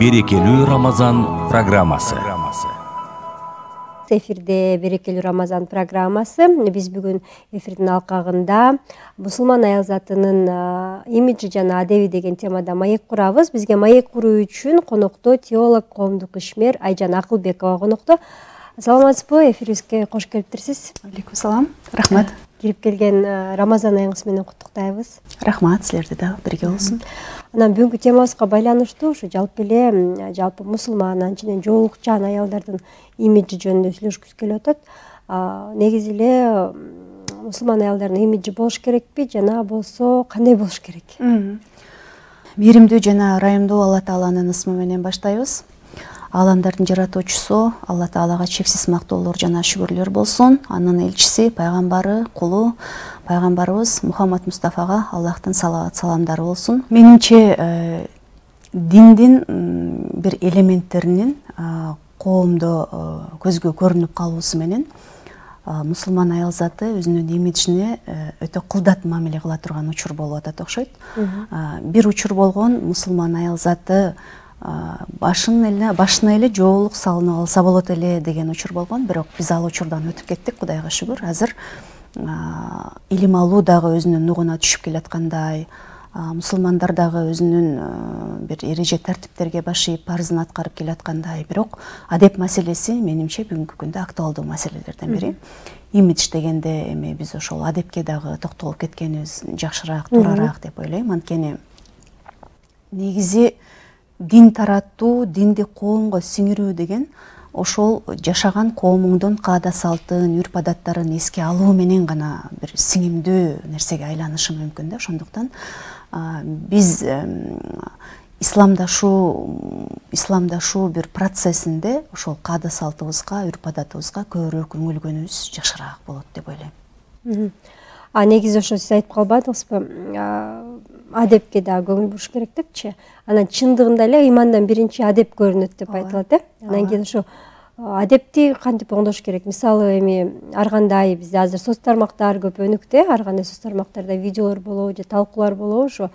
Берекелүү Рамазан программасы. Эфирде Берекелүү Рамазан программасы. Биз бүгүн эфирдин алкагында мусулман аялзатынын имиджи жана адеби деген темада маек курабыз. Бизге маек куруу үчүн конокто теолог, коомдук ишмер Айжан Акылбекова конокто. Саламатсызбы? Эфирибизге кош келиптирсиз. Алейкум салам. Рахмат. Кирип келген Рамазан айыңыз менен куттуктайбыз. Рахмат, силерде да бирге болсун. Анан бүгүнкү темабызга байланыштуу ушу жалпы мусулман, анченен жоолукчан аялдардын имиджи жөнүндө сүйлөшкүбүз келип атат. Негизи эле мусулман аялдардын имиджи болуш керекпи жана болсо кандай болуш керек? Мээримдүү жана ырайымдуу Алла Тааланын ысмы менен баштайбыз. Ааламдардын жаратуучусу Алла Таалага чексиз мактоолор жана шүгүрлөр болсун. Анын элчиси, пайгамбары, кулу пайгамбарыбыз Мухаммад Мустафага Аллахтын салават саламдары болсун. Менимче диндин бир элементтеринин коомдо көзгө көрүнүп калуусу менен мусулман аялзаты өзүнүн имиджине өтө кылдат мамиле кыла турган учур болуп атат окшойт. Бир учур болгон мусулман аялзаты башына эле жоолук салынып алса болот эле деген учур болгон. Бирок биз ал учурдан өтүп кеттик, Кудайга шүгүр. Азыр илим алуу дагы өзүнүн нугуна түшүп келаткандай, мусулмандар дагы өзүнүн бир эреже тартиптерге баш ийип парызын аткарып келаткандай. Бирок адеп маселеси менимче бүгүнкү күндө актуалдуу маселелерден бири. Имидж дегенде эми биз ошол адепке дагы токтолуп кеткенибиз жакшыраак, туурараак деп ойлойм. Анткени негизи дин тараттуу, динди коомго сиңирүү деген ошол жашаган коомуңдун каада салтын, үрп адаттарын эске алуу менен гана бир сиңимдүү нерсеге айланышы мүмкүн да. Ошондуктан биз исламдашуу бир процессинде ошол каада салтыбызга, үрп адатыбызга көбүрөөк үңүлгөнүбүз жакшыраак болот деп ойлойм. Негизи ошо сиз айтып калбадыңызбы? Адепке дагы көңүл буруш керек депчи. Анан чындыгында эле ыймандан биринчи адеп көрүнөт деп айтылат, Анан кийин ошо адепти кантип оңдош керек? Мисалы эми ар кандай бизде азыр соц тармактар көп өнүктү, ар кандай соц тармактарда видеолор болобу же талкуулар болобу, ошо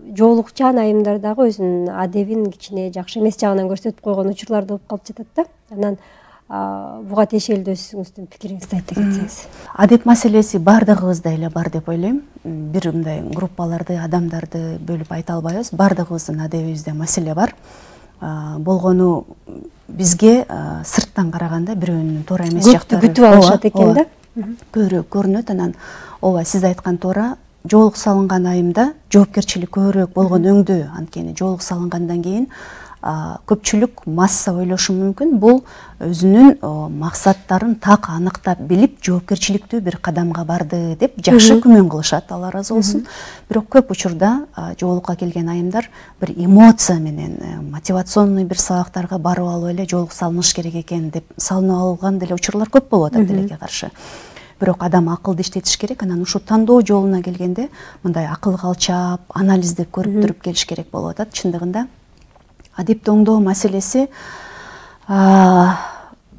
жоолукчан айымдар дагы өзүнүн адебин кичине жакшы эмес жагынан көрсөтүп койгон учурлар болуп калып жатат да. Анан буга тиешелүү өзүңүздүн пикириңизди айта кетсеңиз. Адеп маселеси бардыгыбызда эле бар деп ойлойм. Бир мындай группаларды, адамдарды бөлүп айта албайбыз. Бардыгыбыздын адебибизде маселе бар. Болгону бизге сырттан караганда бирөөнүн туура эмес жактары күтүп алышат экен да. Көбүрөөк көрүнөт. Анан ооба сиз айткан туура, жоолук салынган айымда жоопкерчилик көбүрөөк болгон өңдүү. Анткени жоолук салынгандан кийин көпчүлүк масса ойлошу мүмкүн. Бул өзүнүн максаттарын так аныктап билип, жоопкерчиликтүү бир кадамга барды деп жакшы күмөн кылышат, Алла ыраазы болсун. Бирок көп учурда жоолукка келген айымдар бир эмоция менен, мотивационный бир сабактарга барып алып эле жоолук салыныш керек экен деп салынып алган деле учурлар көп болуп атат тилекке каршы. Бирок адам акылды иштетиш керек. Анан ушу тандоо жолуна келгенде мындай акылга алчаап, анализдеп көрүп туруп келиш керек болуп атат. Чындыгында адепти оңдоо маселеси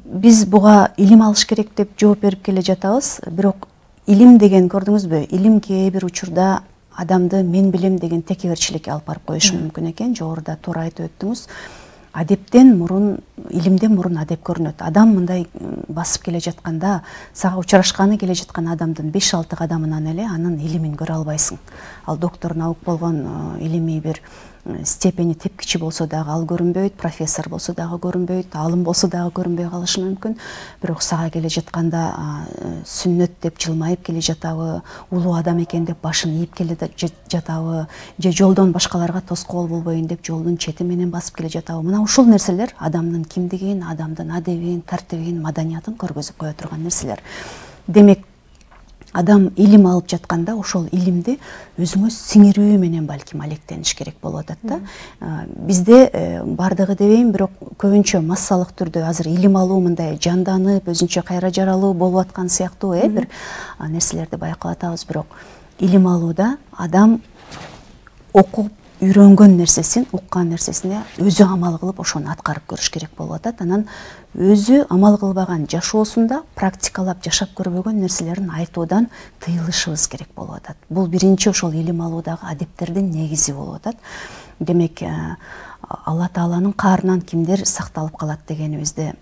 биз буга илим алыш керек деп жооп берип келе жатабыз. Бирок илим деген, көрдүңүзбү, илим кээ бир учурда адамды мен билем деген текеберчиликке алып барып коюшу мүмкүн экен. Жогоруда туура айтып өттүңүз. Адептен мурун, илимден мурун адеп көрүнөт. Адам мындай басып келе жатканда, сага учурашканы келе жаткан адамдын 5-6 кадамынан эле анын илимин көрө албайсың. Ал доктор наук болгон илимий бир степени тепкичи болсо дагы ал көрүнбөйт, профессор болсо дагы көрүнбөйт, алым болсо дагы көрүнбөй калышы мүмкүн. Бирок сага келе жатканда сүннөт деп жылмайып келе жатабы, улуу адам экен деп башын ийип келе жатабы, же жолдон башкаларга тоскоол болбоюн деп жолдун чети менен басып келе жатабы. Мына ушул нерселер адамдын кимдигин, адамдын адебин, тартибин, маданиятын көргөзүп кое турган нерселер. Демек, адам илим алып жатканда ошол илимди өзүңө сиңирүү менен балким алектениш керек болуп атат да. Бизде бардыгы дебейм, бирок көбүнчө массалык түрдө азыр илим алуу мындай жанданып, өзүнчө кайра жаралуу болуп аткан сыяктуу бир нерселерди байкап атабыз. Бирок илим алууда адам окуп үйрөнгөн нерсесин, уккан нерсесине өзү амал кылып ошону аткарып көрүш керек болуп атат. Анан өзү амал кылбаган, жашоосунда практикалап жашап көрбөгөн нерселерин айтуудан тыйылышыбыз керек болуп атат. Бул биринчи ошол илим алуудагы адептердин негизи болуп атат. Демек, Алла Тааланын каарынан кимдер сакталып калат дегенибизде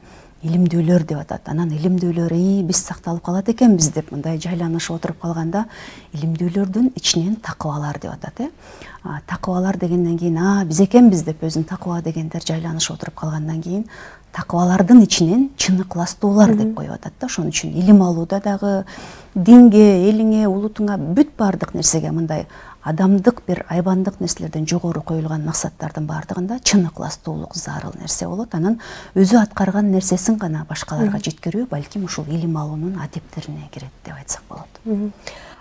илимдүүлөр деп атат. Анан илимдүүлөр биз сакталып калат экенбиз деп мындай жайланышып отуруп калганда илимдүүлөрдүн ичинен такыбалар деп атат. Такыбалар дегенден кийин биз экенбиз деп өзүн такыба дегендер жайланышып отуруп калгандан кийин такыбалардын ичинен чын ыкластуулар деп коюп атат да. Ошон үчүн илим алууда дагы динге, элиңе, улутуңа бүт баардык нерсеге мындай адамдык бир айбандык нерселерден жогору коюлган максаттардын баардыгында чын ыкластуулук зарыл нерсе болот. Анан өзү аткарган нерсесин гана башкаларга жеткирүү балким ушул илим алуунун адептерине кирет деп айтсак болот.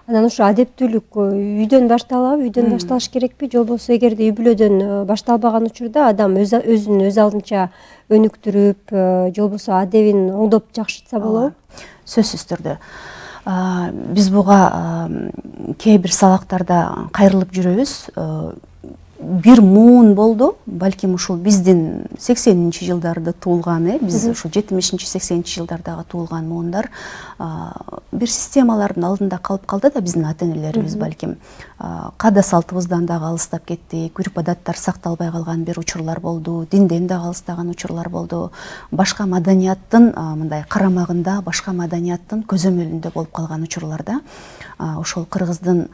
Анан ушу адептүүлүк үйдөн башталабы, үйдөн башталыш керекпи, же болбосо эгерде үй бүлөдөн башталбаган учурда адам өзүн өз алдынча өнүктүрүп, же болбосо адебин оңдоп жакшыртса болобу? Сөзсүз түрдө. Биз буга кээ бир сабактарда кайрылып жүрөбүз. Бир муун болду, балким ушул биздин 80-нчи жылдарда туулган, биз ушул 70-нчи 80-нчи жылдардагы туулган муундар бир системалардын алдында калып калды да биздин ата-энелерибиз балким каада салтыбыздан дагы алыстап кеттик, үрп адаттар сакталбай калган бир учурлар болду, динден дагы алыстаган учурлар болду, башка маданияттын мындай карамагында, башка маданияттын көзөмөлүндө болуп калган учурларда ошол кыргыздын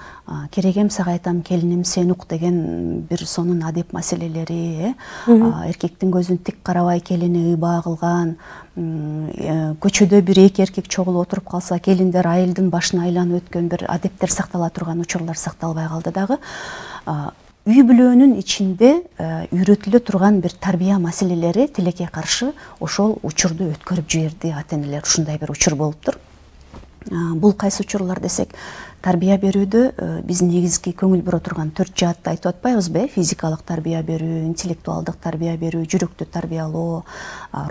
керегем сага айтам келиним сен ук деген бир сонун адеп маселелери, эркектин көзүн тик карабай келини ыйбаа кылган, көчөдө бир эки эркек чогулуп отуруп калса келиндер айылдын башына айланып өткөн бир адептер сактала турган учурлар сакталбай калды дагы. Үй бүлөнүн ичинде үйрөтүлө турган бир тарбия маселелери тилекке каршы ошол учурду өткөрүп жиберди ата-энелер. Ушундай бир учур болуптур. Бул кайсы учурлар десек, тарбия берүүдө биз негизги көңүл бура турган 4 жаатты айтып атпайбызбы? Физикалык тарбия берүү, интеллектуалдык тарбия берүү, жүрөктү тарбиялоо,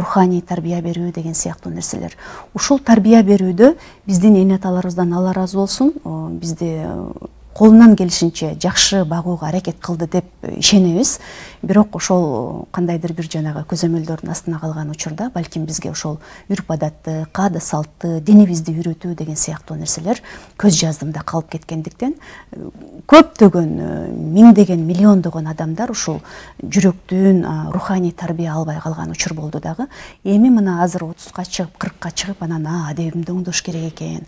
руханий тарбия берүү деген сыяктуу нерселер. Ушул тарбия берүүдө биздин эне аталарыбыздан Алла ыраазы болсун, бизди колунан келишинче жакшы багууга аракет кылды деп ишенебиз. Бирок ошол кандайдыр бир жанагы көзөмөлдөрдүн астына калган учурда балким бизге ошол үрп адатты, каада салтты, динибизди үйрөтүү деген сыяктуу нерселер көз жаздымда калып кеткендиктен көптөгөн миңдеген, миллиондогон адамдар ушул жүрөктүн руханий тарбия албай калган учур болду дагы. Эми мына азыр 30ка чыгып, 40ка чыгып анан адебимди оңдош керек экен,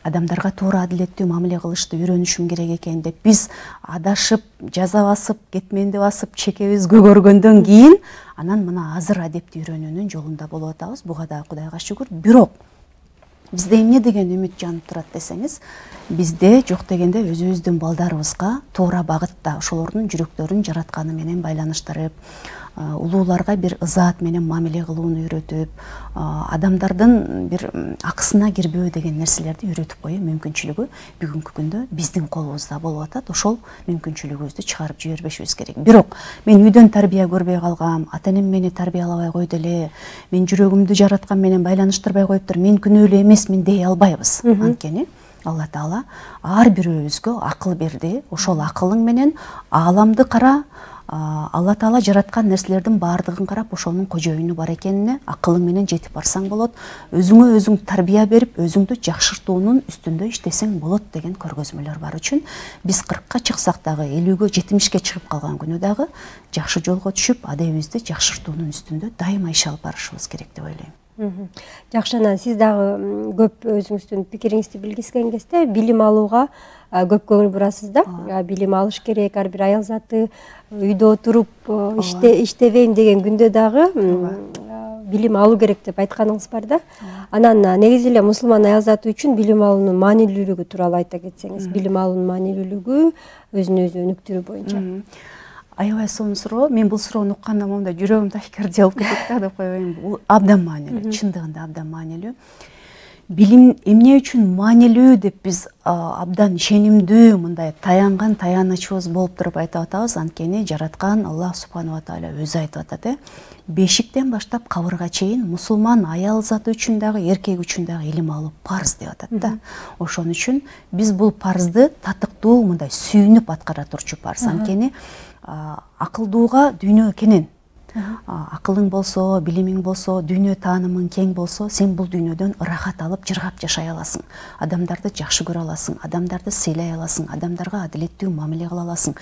адамдарга туура адилеттүү мамиле кылышты үйрөнүшүм керек экен деп биз адашып, жаза басып, кетменди басып, чекебиз көгөргөндөн кийин анан мына азыр адепти үйрөнүүнүн жолунда болуп атабыз. Буга да Кудайга шүгүр. Бирок бизде эмне деген үмүт жанып турат десеңиз, бизде жок дегенде өзүбүздүн балдарыбызга туура багытта ошолордун жүрөктөрүн жаратканы менен байланыштырып, улууларга бир ызаат менен мамиле кылууну үйрөтүп, адамдардын бир акысына кирбөө деген нерселерди үйрөтүп коюу мүмкүнчүлүгү бүгүнкү күндө биздин колубузда болуп атат. Ошол мүмкүнчүлүгүбүздү чыгарып жибербешибиз керек. Бирок мен үйдөн тарбия көрбөй калгам, ата-энем мени тарбиялабай койду эле, мен жүрөгүмдү жараткан менен байланыштырбай коюптур, мен күнөөлүү эмесмин дей албайбыз. Анткени Алла Таала ар бирөөбүзгө акыл берди. Ошол акылың менен ааламды кара, Алла Таала жараткан нерселердин баардыгын карап, ошонун кожоюну бар экенине акылың менен жетип барсаң болот. Өзүңө өзүң тарбия берип, өзүңдү жакшыртуунун үстүндө иштесең болот деген көргөзмөлөр бар үчүн биз 40ка чыксак дагы, 50ге, 70ке чыгып калган күнү дагы жакшы жолго түшүп, адебибизди жакшыртуунун үстүндө дайыма иш алып барышыбыз керек деп ойлойм. Жакшы, анан сиз дагы көп өзүңүздүн пикириңизди билгизген кезде билим алууга көп көңүл бурасыз да. Билим алыш керек, ар бир аял заты үйдө отуруп иштебейм деген күндө дагы билим алуу керек деп айтканыңыз бар да. Анан негизи эле мусулман аял заты үчүн билим алуунун маанилүүлүгү тууралуу айта кетсеңиз, билим алуунун маанилүүлүгү өзүн өзү өнүктүрүү боюнча. Аябай сонун суроо. Мен бул суроону укканда момундай жүрөгүм ташкерди болуп кетет да деп коебейм. Бул абдан маанилүү, чындыгында абдан маанилүү. Билим эмне үчүн маанилүү деп биз абдан ишенимдүү мындай таянган таянычыбыз болуп туруп айтып атабыз. Анткени жараткан Аллах субханала тааля өзү айтып атат, бешиктен баштап кабырга чейин мусулман аял заты үчүн дагы, эркек үчүн дагы илим алуу парз деп атат да. Ошон үчүн биз бул парзды татыктуу мындай сүйүнүп аткара турчу парз. Анткени акылдууга дүйнө кенен. акылың болсо, билимиң болсо, дүйнө таанымың кең болсо, сен бул дүйнөдөн ырахат алып, жыргап жашай аласың. Адамдарды жакшы көрө аласың, адамдарды сыйлай аласың, адамдарга адилеттүү мамиле кыла аласың.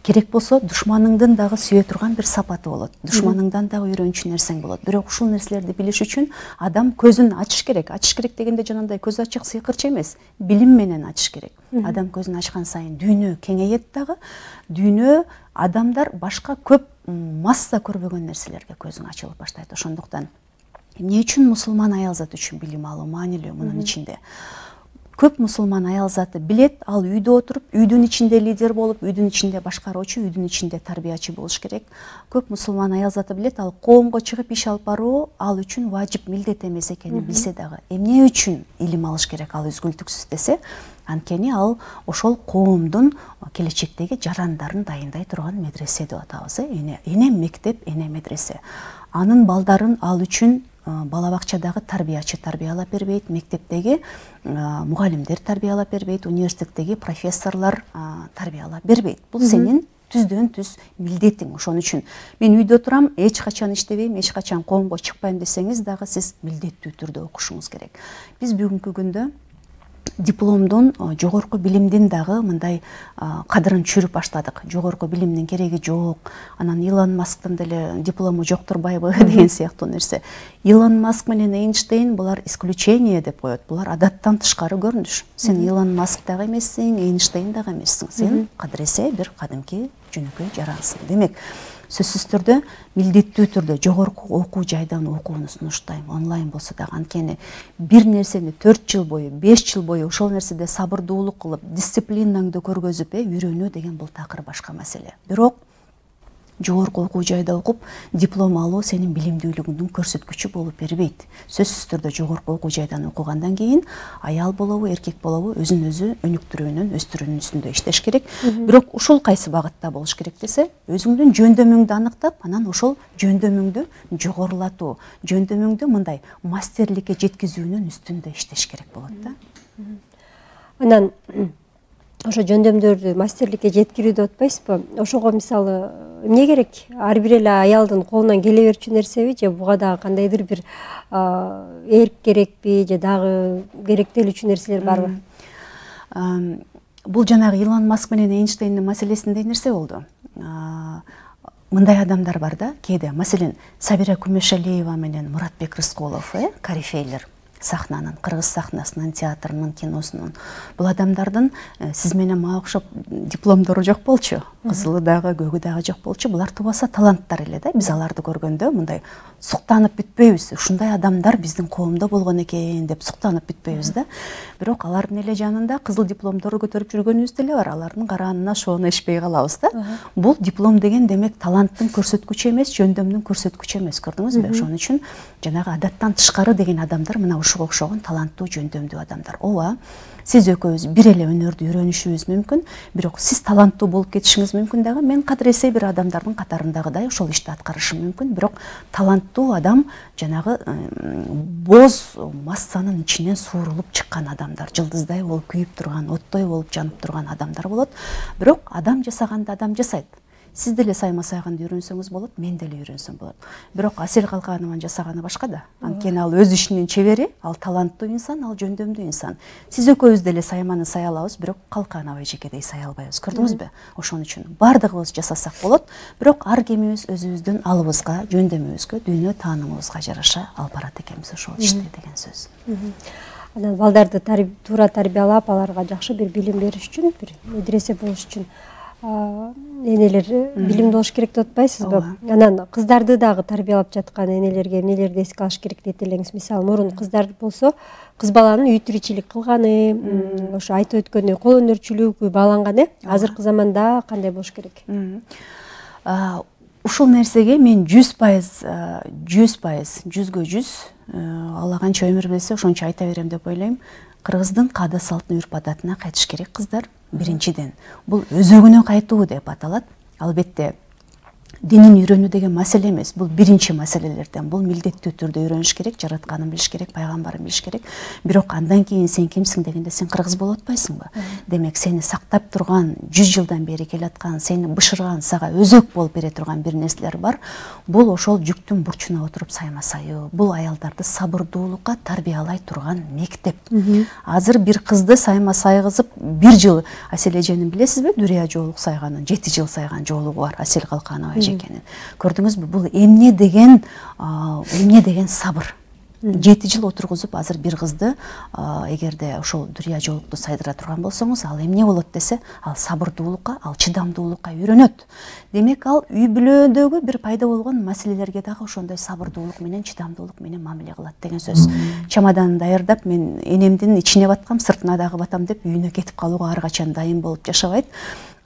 Керек болсо, душманыңдын дагы сүйө турган бир сапаты болот. Душманыңдан дагы үйрөнчү нерсең болот. Бирок ушул нерселерди билиш үчүн адам көзүн ачыш керек. Ачыш керек дегенде жанагындай көз ачык сыйкырчы эмес, билим менен ачыш керек. Адам көзүн ачкан сайын дүйнө кеңейет дагы. Дүйнө, адамдар башка көп масса көрбөгөн нерселерге көзүң ачылып баштайт. Ошондуктан эмне үчүн мусулман аял заты үчүн билим алуу маанилүү мунун ичинде? Көп мусулман аял заты билет, ал үйдө отуруп, үйдүн ичинде лидер болуп, үйдүн ичинде башкаруучу, үйдүн ичинде тарбиячы болуш керек. Көп мусулман аял заты билет, ал коомго чыгып иш алып баруу ал үчүн важип, милдет эмес экенин билсе дагы, эмне үчүн илим алыш керек ал үзгүлтүксүз десе, анткени ал ошол коомдун келечектеги жарандарын дайындай турган медресе деп атабыз, эне мектеп, эне медресе. Анын балдарын ал үчүн бала бакчадагы тарбиячы тарбиялап бербейт, мектептеги мугалимдер тарбиялап бербейт, университеттеги профессорлор тарбиялап бербейт. Бул сенин түздөн түз милдетиң. Ошон үчүн мен үйдө турам, эч качан иштебейм, эч качан коомго чыкпайм десеңиз дагы сиз милдеттүү түрдө окушуңуз керек. Биз бүгүнкү күндө дипломдун, жогорку билимдин дагы мындай кадырын түшүрүп баштадык. Жогорку билимдин кереги жок. Анан Илон Масктын деле диплому жок турбайбы деген сыяктуу нерсе. Илон Маск менен Эйнштейн булар исключение деп коет. Булар адаттан тышкары көрүнүш. Сен Илон Маск дагы эмессиң, Эйнштейн дагы эмессиң. Сен кадыресе бир кадимки жөнөкөй жарансың. Демек, сөзсүз түрдө милдеттүү түрдө жогорку окуу жайдан окууну сунуштайм. Онлайн болсо дагы, анткени бир нерсени 4 жыл бою, 5 жыл бою ошол нерседе сабырдуулук кылып, дисциплинаңды көргөзүп, үйрөнүү деген бул такыр башка маселе. Бирок жогорку окуу жайда окуп, диплом алуу сенин билимдүүлүгүңдүн көрсөткүчү болуп бербейт. Сөзсүз түрдө жогорку окуу жайдан окугандан кийин аял болобу, эркек болобу өзүн өзү өнүктүрүүнүн, өстүрүүнүн иштеш керек. Бирок ушул кайсы багытта болуш керек десе, өзүңдүн жөндөмүңдү аныктап, анан ошол жөндөмүңдү жогорулатуу, жөндөмүңдү мындай мастерликке жеткизүүнүн үстүндө иштеш керек болот да. Анан ошо жөндөмдөрдү мастерликке жеткирүү деп атпайсызбы? Ошого мисалы эмне керек? Ар бир эле аялдын колунан келе берчү нерсеби, же буга дагы кандайдыр бир эрк керекпи, же дагы керектелүүчү нерселер барбы? Бул жанагы Илон Маск менен Эйнштейндин маселесиндей нерсе болду. Мындай адамдар бар да, кээде, маселен, Сабира Күмөшалиева менен Муратбек Рыскулов, корифейлер сахнанын, кыргыз сахнасынын, театрынын, киносунун. Бул адамдардын сиз менен мага окшоп дипломдору жок болчу, кызылы дагы, көгү дагы жок болчу. Булар тубаса таланттар эле да. Биз аларды көргөндө мындай суктанып бүтпөйбүз. Ушундай адамдар биздин коомдо болгон экен деп суктанып бүтпөйбүз да. Бирок алардын эле жанында кызыл дипломдору көтөрүп жүргөнүбүз деле бар. Алардын караанына шоону ишпей калабыз да. Бул диплом деген демек таланттын көрсөткүчү эмес, жөндөмдүн көрсөткүчү эмес, көрдүңүзбү? Ошон үчүн жанагы адаттан тышкары деген адамдар мына ушуга окшогон таланттуу, жөндөмдүү адамдар. Ооба, сиз экөөбүз бир эле өнөрдү үйрөнүшүбүз мүмкүн, бирок сиз таланттуу болуп кетишиңиз мүмкүн дагы. Мен кадыресе бир адамдардын катарындагыдай ошол ишти аткарышым мүмкүн, бирок таланттуу адам жанагы боз массанын ичинен суурулуп чыккан адамдар, жылдыздай болуп күйүп турган, оттой болуп жанып турган адамдар болот. Бирок адам жасаганды адам жасайт. Сиз деле сайма сайганды үйрөнсөңүз болот, мен деле үйрөнсөм болот. Бирок Асель Калканованын жасаганы башка да. Анткени ал өз ишинин чебери, ал таланттуу инсан, ал жөндөмдүү инсан. Сиз экөөбүз деле сайманы сая алабыз, бирок Калканова эжекедей сая албайбыз. Көрдүңүзбү? Ошон үчүн бардыгыбыз жасасак болот, бирок ар кимибиз өзүбүздүн алыбызга, жөндөмүбүзгө, дүйнө таанымыбызга жараша алып барат экенбиз ошол ишти деген сөз. Анан балдарды туура тарбиялап, аларга жакшы бир билим бериш үчүн, бир медресе болуш үчүн энелер билимдүү болуш керек деп атпайсызбы? Анан кыздарды дагы тарбиялап жаткан энелерге эмнелерди эске алыш керек дейт элеңиз? Мисалы, мурун кыздар болсо, кыз баланын үй тиричилик кылганы, ошо айтып өткөндөй кол өнөрчүлүгү бааланган, азыркы заманда кандай болуш керек? Ушул нерсеге мен 100%, 100%, Алла канча өмүр берсе ошончо айта берем деп ойлойм. Кыргыздын каада салтын, үрп адатына кайтыш керек кыздар. Биринчиден, бул өзөгүнө кайтуу деп аталат. Албетте, динин үйрөнүү деген маселе эмес, бул биринчи маселелерден. Бул милдеттүү түрдө үйрөнүш керек, жаратканын билиш керек, пайгамбарын билиш керек. Бирок андан кийин сен кимсиң дегенде сен кыргыз болуп атпайсыңбы? Демек сени сактап турган, 100 жылдан бери келаткан, сени бышырган, сага өзөк болуп бере турган бир нерселер бар. Бул ошол жүктүн бурчуна отуруп сайма-сайуу. Бул аялдарды сабырдуулукка тарбиялай турган мектеп. Азыр бир кызды сайма-сайгызып 1 жыл Асел эженин билесизби? Дүрия жоолук сайганын 7 жыл сайган жоолугу бар, Асел Калканова эжекенин. Көрдүңүзбү? Бул эмне деген сабыр. 7 жыл отургузуп азыр бир кызды эгерде ошол Дүрия жоолукту сайдыра турган болсоңуз, ал эмне болот десе, ал сабырдуулукка, ал чыдамдуулукка үйрөнөт. Демек ал үй бүлөдөгү бир пайда болгон маселелерге дагы ошондой сабырдуулук менен, чыдамдуулук менен мамиле кылат деген сөз. Чемоданын даярдап, мен энемдин ичине баткам, сыртына дагы батам деп үйүнө кетип калууга ар качан дайын болуп жашабайт.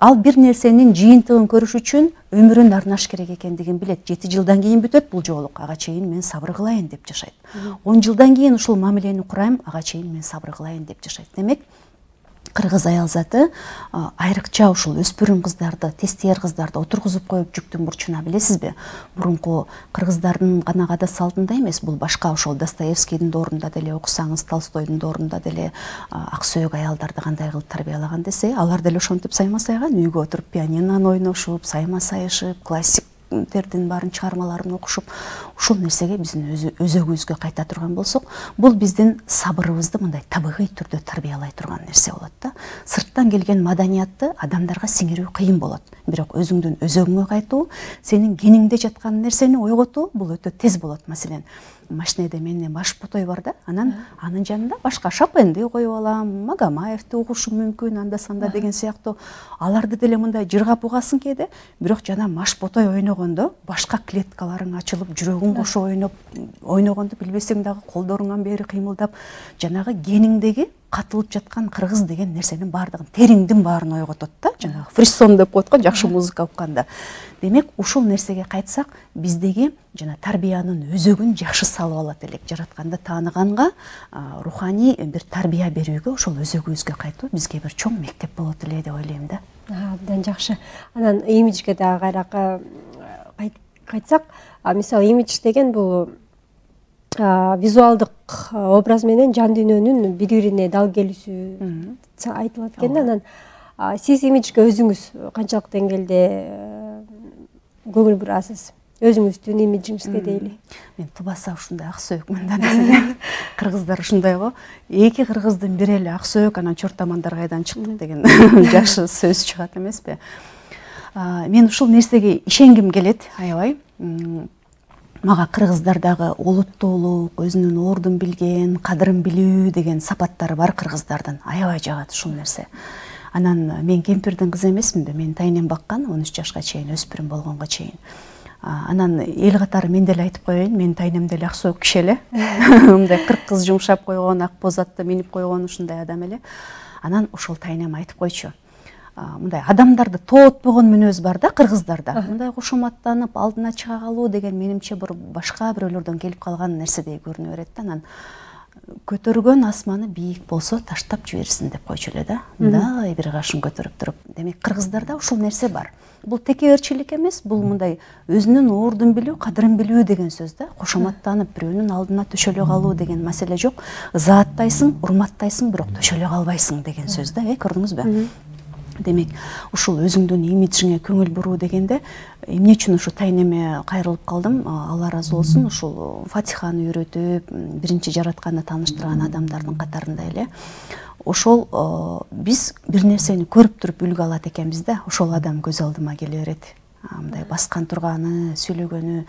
Ал бир нерсенин жыйынтыгын көрүш үчүн өмүрүн арнаш керек экендигин билет. 7 жылдан кийин бүтөт бул жоолук, ага чейин мен сабыр кылайын деп жашайт. 10 жылдан кийин ушул мамилени курайм, ага чейин мен сабыр кылайын деп жашайт. Демек, кыргыз аял заты айрыкча ушул өспүрүм кыздарды, тестияр кыздарды отургузуп коюп жүктүн бурчуна, билесизби? Мурунку кыргыздардын гана када салтында эмес, бул башка ошол Достоевскийдин доорунда деле окусаңыз, Толстойдун доорунда деле ак сөөк аялдарды кандай кылып тарбиялаган десе, алар деле ошентип сайма-сайган, үйгө отуруп пианинону ойношуп, сайма-сайышып, классиктердин баарын чыгармаларын окушуп, ушул нерсеге биздин өзөгүбүзгө кайта турган болсок, бул биздин сабырыбызды мындай табигый түрдө тарбиялай турган нерсе болот да. Сырттан келген маданиятты адамдарга сиңирүү кыйын болот. Бирок өзүңдүн өзөгүңө кайтуу, сенин гениңде жаткан нерсени ойготуу бул өтө тез болот. Маселен, машинеде менин баш ботой бар да, анан анын жанында башка Шопенди коюп алам, Магомаевди угушум мүмкүн анда санда деген сыяктуу. Аларды деле мындай жыргап угасың кээде, бирок жана маш ботой ойногондо башка клеткаларың ачылып, жүрөгүң кошо ойногонду билбесең дагы колдоруңан бери кыймылдап, жанагы гениңдеги катылып жаткан кыргыз деген нерсенин баардыгын, териңдин баарын ойготот да, жанагы фрисон деп коет го, жакшы музыка укканда. Демек, ушул нерсеге кайтсак, биздеги жана тарбиянын өзөгүн жакшы салып алат элек. Жаратканды тааныганга, руханий бир тарбия берүүгө, ошол өзөгүбүзгө кайтуу бизге бир чоң мектеп болот эле деп ойлойм да. Абдан жакшы. Анан имиджге дагы кайрака кайтсак, мисалы имидж деген бул визуалдык образ менен жан дүйнөнүн бири-бирине дал келүүсү айтылат экен. Анан сиз имиджге өзүңүз канчалык деңгээлде көңүл бурасыз? Өзүңүздүн имиджиңизге дейли. Мен тубаса ушундай ак сөөкмүн да. Кыргыздар ушундай го. Эки кыргыздын бири эле ак сөөк, анан чортамандар кайдан чыктык деген жакшы сөз чыгат эмеспи? Мен ушул нерсеге ишенгим келет, аябай. Мага кыргыздардагы олуттуулук, өзүнүн ордун билген, кадырын билүү деген сапаттары бар кыргыздардын. Аябай жагат ушул нерсе. Анан мен кемпирдин кызы эмесминби? Мен тайнем баккан 13 жашка чейин, өспүрүм болгонго чейин. Анан эл катары мен деле айтып коеюн, мен тайнем деле ак сөөк киши эле. Мындай 40 кыз жумшап койгон, ак боз атты минип койгон ушундай адам эле. Анан ошол тайнем айтып койчу. Мындай адамдарды тоотпогон мүнөз бар да кыргыздарда. Мындай кошоматтанып, алдына чыга калуу деген менимче бир башка бирөөлөрдөн келип калган нерседей көрүнө берет да. Анан көтөргөн асманы бийик болсо таштап жиберсин деп койчу эле да. Мындай бир кашын көтөрүп туруп. Демек кыргыздарда ушул нерсе бар. Бул текеберчилик эмес, бул мындай өзүнүн ордун билүү, кадырын билүү деген сөз да. Кошоматтанып, бирөөнүн алдына төшөлө калуу деген маселе жок. Ызааттайсың, урматтайсың, бирок төшөлө калбайсың деген сөз да, көрдүңүзбү? Демек, ушул өзүңдүн имиджиңе көңүл буруу дегенде, эмне үчүн ушу тайнеме кайрылып калдым? Алла ыраазы болсун, ушул Фатиханы үйрөтүп, биринчи жаратканды тааныштырган адамдардын катарында эле. Ошол биз бир нерсени көрүп туруп үлгү алат экенбиз да. Ошол адам көз алдыма келе берет. Мындай баскан турганы, сүйлөгөнү,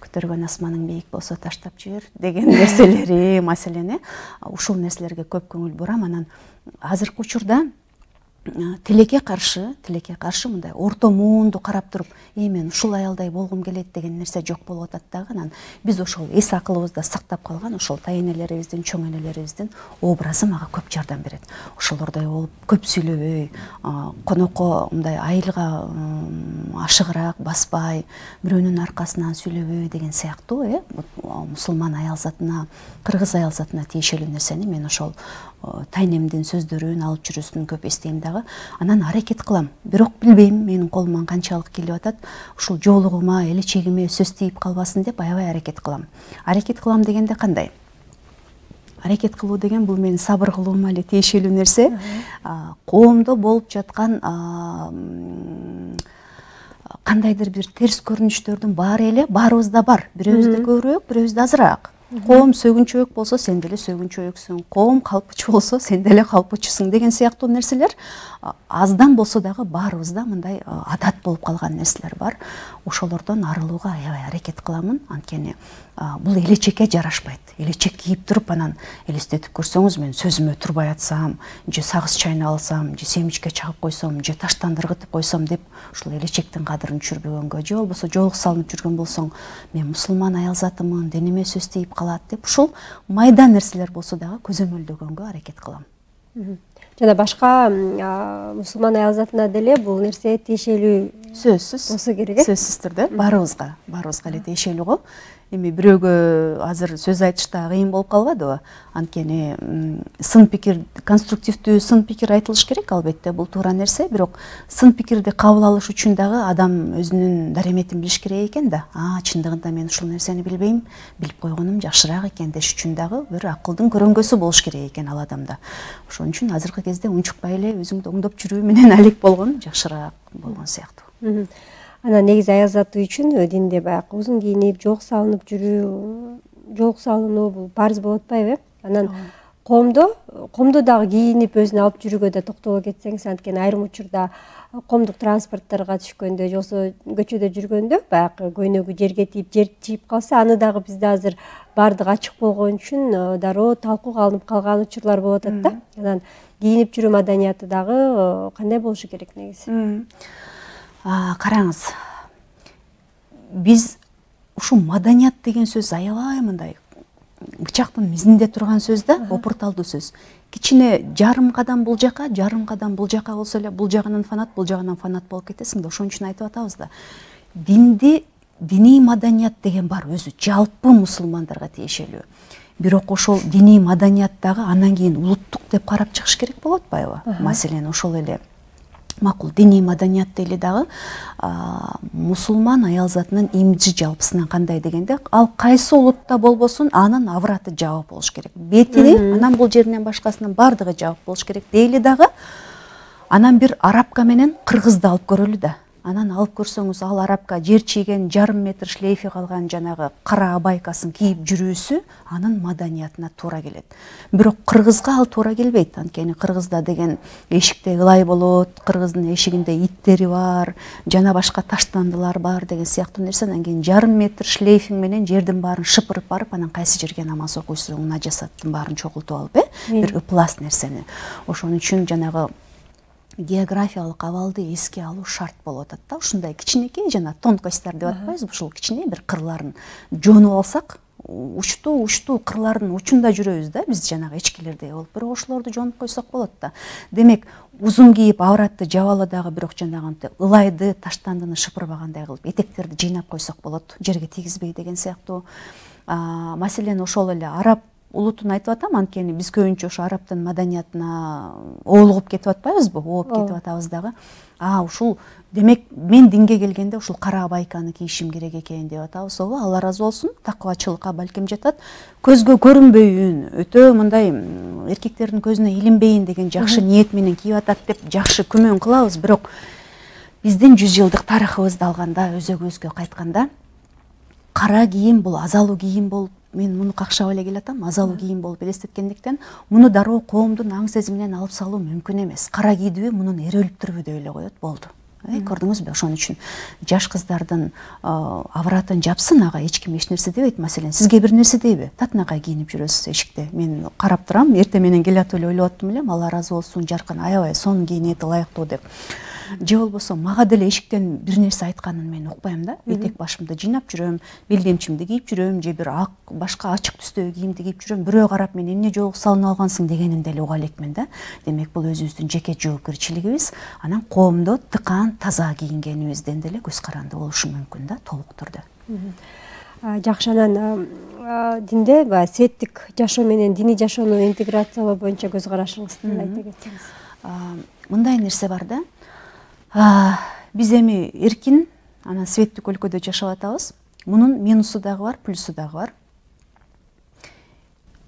көтөргөн асманың бийик болсо таштап жибер деген нерселери, маселени, ушул нерселерге көп көңүл бурам. Анан азыркы учурда тилекке каршы мындай орто муунду карап туруп, мен ушул аялдай болгум келет деген нерсе жок болуп атат дагы. Анан биз ошол эс акылыбызда сактап калган ошол тайэнелерибиздин, чоң энелерибиздин образы мага көп жардам берет. Ошолордой болуп, көп сүйлөбөй, конокко мындай айылга ашыгыраак баспай, бирөөнүн аркасынан сүйлөбөй деген сыяктуу, мусулман аял затына, кыргыз аял затына тиешелүү нерсени мен ошол тайнемдин сөздөрүн, алып жүрүүсүн көп эстейм дагы. дагы анан аракет кылам. Бирок билбейм менин колуман канчалык келип атат. Ушул жоолугума, элечегиме сөз тийип калбасын деп аябай аракет кылам. Аракет кылам дегенде кандай? Аракет кылуу деген бул менин сабыр кылуума эле тиешелүү нерсе. Коомдо болуп жаткан кандайдыр бир терс көрүнүштөрдүн баары эле баарыбызда бар. Бирөөбүздө көбүрөөк, бирөөбүздө азыраак. Коом сөгүнчөөк болсо сен деле сөгүнчөөксүң, коом калпычы болсо сен деле калпычысың деген сыяктуу нерселер аздан болсо дагы баарыбызда мындай адат болуп калган нерселер бар. Ошолордон арылууга аябай аракет кыламын. Анткени бул элечекке жарашпайт. Элечек кийип туруп анан элестетип көрсөңүз, мен сөзүмө турбай атсам, же сагыз чайнап алсам, же семичке чагып койсом, же таштан ыргытып койсом деп ушул элечектин кадырын түшүрбөгөнгө, же болбосо жоолук салынып жүргөн болсоң, мен мусулман аял затымын, дениме сөз тийип калат деп ушул майда нерселер болсо дагы көзөмөлдөгөнгө аракет кылам. Жана башка мусулман аял затына деле бул нерсе тиешелүү Сөзсүз болсо керек. Сөзсүз түрдө баарыбызга эле тиешелүү го. Эми бирөөгө азыр сөз айтышта кыйын болуп калбадыбы? Анткени сын пикир, конструктивдүү сын пикир айтылыш керек, албетте бул туура нерсе, бирок сын пикирди кабыл алыш үчүн дагы адам өзүнүн дареметин билиш керек экен да. Чындыгында мен ушул нерсени билбейм, билип койгонум жакшыраак экен деш үчүн дагы бир акылдын көрөңгөсү болуш керек экен ал адамда. Ошон үчүн азыркы кезде унчукпай эле өзүңдү оңдоп жүрүү менен алек болгон жакшыраак болгон сыяктуу. Анан негизи аял заты үчүн динде баягы узун кийинип, жоолук салынып жүрүү, жоолук салынуу бул парыз болуп атпайбы? Анан коомдо дагы кийинип өзүнө алып жүрүүгө да токтоло кетсеңиз, анткени айрым учурда коомдук транспортторго түшкөндө, же болбосо көчөдө жүргөндө баягы көйнөгү жерге тийип, жер чийип калса, аны дагы бизде азыр баардыгы ачык болгон үчүн дароо талкууга алынып калган учурлар болуп атат да. Анан кийинип жүрүү маданияты дагы кандай болушу керек негизи? Караңыз, биз ушул маданият деген сөз аябай мындай бычактын мизинде турган сөз да, опурталдуу сөз. Кичине жарым кадам бул жака, жарым кадам бул жака болсо эле, бул жагынан фанат, бул жагынан фанат болуп кетесиң да. Ошон үчүн айтып атабыз да. Диний маданият деген бар, өзү жалпы мусулмандарга тиешелүү. Бирок ошол диний маданият дагы андан кийин улуттук деп карап чыгыш керек болуп атпайбы? Маселен, ошол эле макул диний маданият дейли дагы мусулман аял затынын имиджи жалпысынан кандай дегенде, ал кайсы улутта болбосун анын авраты жабык болуш керек. Бетини, анан бул жеринен башкасынын баардыгы жабык болуш керек дейли дагы. Анан бир арабка менен кыргызды алып көрөлү да. Анан алып көрсөңүз, ал арабка жер чийген жарым метр шлейфи калган жанагы кара абайкасын кийип жүрүүсү анын маданиятына туура келет. Бирок кыргызга ал туура келбейт. Анткени кыргызда деген эшикте ылай болот, кыргыздын эшигинде иттери бар, жана башка таштандылар бар деген сыяктуу нерсе. Анан кийин жарым метр шлейфиң менен жердин баарын шыпырып барып, анан кайсы жерге намаз окуйсуң, нажасаттын баарын чогултуп алып, бир ыплас нерсени. Ошон үчүн жанагы географиялык абалды эске алуу шарт болуп атат да. Ушундай кичинекей жана тонкостьтар деп атпайбызбы, ушул кичине бир кырларын жонуп алсак, учтуу кырлардын учунда жүрөбүз да биз жанагы эчкилердей болуп. Бирок ошолорду жонуп койсок болот да. Демек, узун кийип авратты жабалы дагы, бирок жанагынтип ылайды, таштандыны шыпырбагандай кылып этектерди жыйнап койсок болот, жерге тийгизбей деген сыяктуу. Маселен, ошол эле араб улутун айтып атам, анткени биз көбүнчө ошо арабтын маданиятына оолугуп кетип атпайбызбы, ооп кетип атабыз дагы. Ушул демек мен динге келгенде ушул кара абайканы кийишим керек экен деп атабыз. Алла ыраазы болсун, такыбачылыкка балким жатат. Көзгө көрүнбөйүн, өтө мындай эркектердин көзүнө илинбейин деген жакшы ниет менен кийип атат деп жакшы күмөн кылабыз, бирок биздин 100 жылдык тарыхыбызды алганда, өзөгүбүзгө кайтканда, кара кийим бул азалуу кийим болуп, мен муну какшап эле келатам, азалуу кийим болуп элестеткендиктен, муну дароо коомдун аң сезиминен алып салуу мүмкүн эмес. Кара кийдүбү, мунун эрөлүптүрбү деп эле коет, болду. Көрдүңүзбү? Ошон үчүн жаш кыздардын авратын жапсын, ага эч ким эч нерсе дебейт. Маселен, сизге бир нерсе дейби? Татынакай кийинип жүрөсүз эшикте. Мен карап турам, эртең менен келатып эле ойлоп аттым элем, Алла ыраазы болсун, жаркын, аябай сонун кийинети ылайыктуу деп. Же болбосо мага деле эшиктен бир нерсе айтканын мен укпайм да. Этек башымды жыйнап жүрөм, белдемчимди кийип жүрөм, же бир башка ачык түстөгү кийимди кийип жүрөм. Бирөө карап мен эмне жоолук салынып алгансың дегенин деле уга элекмин да. Демек, бул өзүбүздүн жеке жоопкерчилигибиз. Анан коомдо тыкаан таза кийингенибизден деле көз каранды болушу мүмкүн да, толук түрдө. Жакшы, анан динде светтик жашоо менен диний жашоону интеграциялоо боюнча көз карашыңызды айта кетсеңиз. мындай нерсе бар да. Биз эми эркин анан светтик өлкөдө жашап атабыз. Мунун минусу дагы бар, плюсу дагы бар.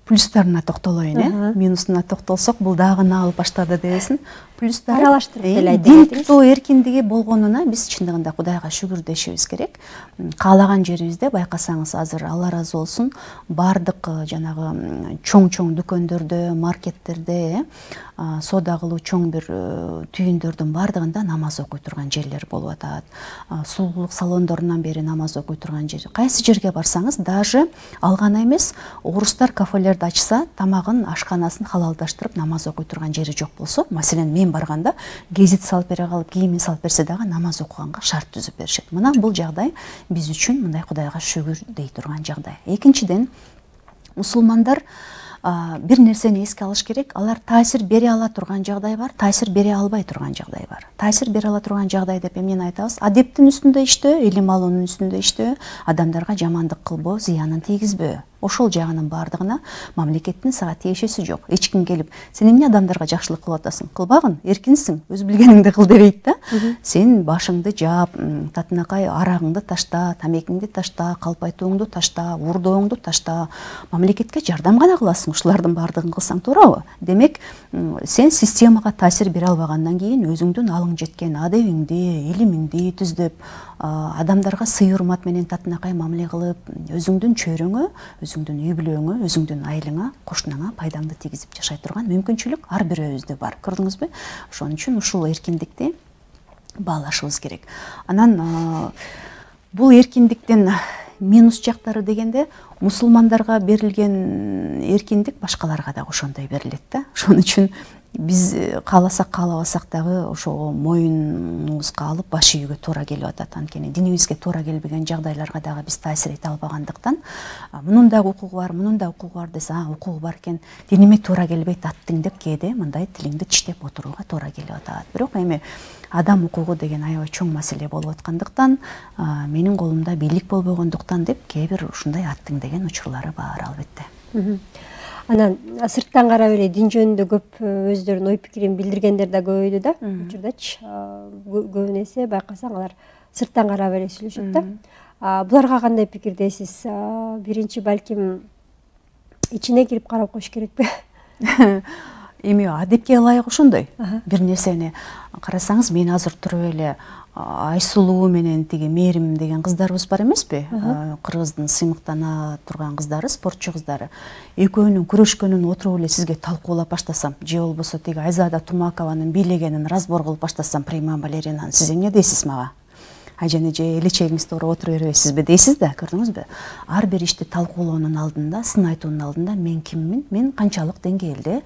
Плюстарына токтолоюн, минусуна токтолсок, бул дагы алып баштады дебесин. Плюстары аралаштырып деле айтып дин кетиңиз. тутуу эркиндиги болгонуна биз чындыгында Кудайга шүгүр дешибиз керек. Каалаган жерибизде байкасаңыз, азыр Алла ыраазы болсун, бардык жанагы чоң-чоң дүкөндөрдө, маркеттерде, соода кылуу чоң бир түйүндөрдүн бардыгында намаз окуй турган жерлер болуп атат. Сулуулук салондорунан бери намаз окуй турган жер. Кайсы жерге барсаңыз, даже ал гана эмес, орустар кафелерди ачса, тамагын, ашканасын халалдаштырып намаз окуй турган жери жок болсо, маселен мен барганда гезит салып бере калып, кийимин салып берсе дагы намаз окуганга шарт түзүп беришет. Мына бул жагдай биз үчүн мындай Кудайга шүгүр дей турган жагдай. Экинчиден, мусулмандар бир нерсени эске алыш керек. Алар таасир бере ала турган жагдай бар, таасир бере албай турган жагдай бар. Таасир бере ала турган жагдай деп эмнени айтабыз? Адептин үстүндө иштөө, илим алуунун үстүндө иштөө, адамдарга жамандык кылбоо, зыянын тийгизбөө. Ошол жагынын бардыгына мамлекеттин сага тиешеси жок. Эч ким келип, сен эмне адамдарга жакшылык кылып атасың? Кылбагын, эркинсиң, өз билгениңди кыл дебейт да. Сен башыңды жаап, татынакай арагыңды ташта, тамекиңди ташта, калпайтууңду ташта, уурдооңду ташта. Мамлекетке жардам гана кыласың, ушулардын бардыгын кылсаң туурабы? Демек, сен системага таасир бере албагандан кийин өзүңдүн алың жеткен адебиңди, илимиңди түздөп, адамдарга сый урмат менен татынакай мамиле кылып, өзүңдүн чөйрөңө, өзүңдүн үй бүлөңө, өзүңдүн айылыңа, кошунаңа пайдаңды тийгизип жашай турган мүмкүнчүлүк ар бирөөбүздө бар. Көрдүңүзбү? Ошон үчүн ушул эркиндикти баалашыбыз керек. Анан бул эркиндиктин минус жактары дегенде, мусулмандарга берилген эркиндик башкаларга да ошондой берилет да. Ошон үчүн биз кааласак каалабасак дагы ошого моюнубузга алып баш ийүүгө туура келип атат. Анткени динибизге туура келбеген жагдайларга дагы биз таасир эте албагандыктан, мунун дагы укугу бар, мунун да укугу бар десе, укугу бар экен, диниме туура келбейт аттың деп кээде мындай тилиңди тиштеп отурууга туура келип атат. Бирок эми адам укугу деген аябай чоң маселе болуп аткандыктан, менин колумда бийлик болбогондуктан деп кээ бир ушундай аттың деген учурлары бар албетте. Анан сырттан карап эле дин жөнүндө көп өздөрүнүн ой пикирин билдиргендер да көбөйдү да. Учурдачы көбүн эсе байкасаң алар сырттан карап эле сүйлөшөт да. Буларга кандай пикирдесиз? Биринчи балким ичине кирип карап коюш керекпи? Эми адепке ылайык ошондой. Бир нерсени карасаңыз, мен азыр туруп эле Айсулуу менен тиги Мээрим деген кыздарыбыз бар эмеспи? Кыргыздын сыймыктана турган кыздары, спортчу кыздары. Экөөнүн күрөшкөнүн отуруп эле сизге талкуулап баштасам, же болбосо тиги Айзада Тумакованын бийлегенин разбор кылып баштасам, Приман Балеринанын, сиз эмне дейсиз мага? Айжаны же элечегиңизди уруп отура бербейсизби дейсиз да, көрдүңүзбү? Ар бир ишти талкуулоонун алдында, сын айтуунун алдында мен киммин, мен канчалык деңгээлде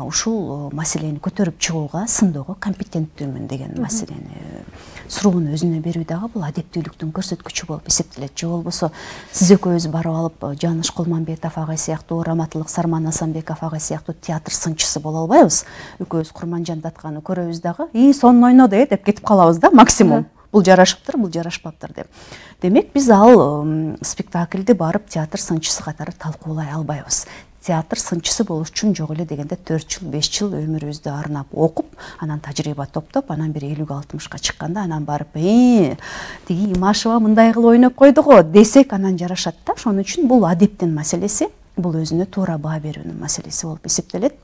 ушул маселени көтөрүп чыгууга, сындоого компетенттүүмүн деген маселени суроону өзүнө берүү дагы бул адептүүлүктүн көрсөткүчү болуп эсептелет. Же болбосо сиз экөөбүз барып алып Жаныш Кулманбетов агай сыяктуу, Раматылык Сарман Асанбеков агай сыяктуу театр сынчысы боло албайбыз. Экөөбүз Курманжандатканы көрөбүз дагы, сонун ойноду деп кетип калабыз да, максимум. Бул жарашыптыр, бул жарашпаптыр деп. Демек, биз ал спектакльди барып театр сынчысы катары талкуулай албайбыз. Театр сынчысы болуш үчүн жок эле дегенде 4 жыл, 5 жыл өмүрүбүздү арнап окуп, анан тажрыйба топтоп, анан бир 50-60ка чыкканда, анан барып, тиги Имашева мындай кылып ойноп койду го десек, анан жарашат да. Ошон үчүн бул адептин маселеси, бул өзүнө туура баа берүүнүн маселеси болуп эсептелет.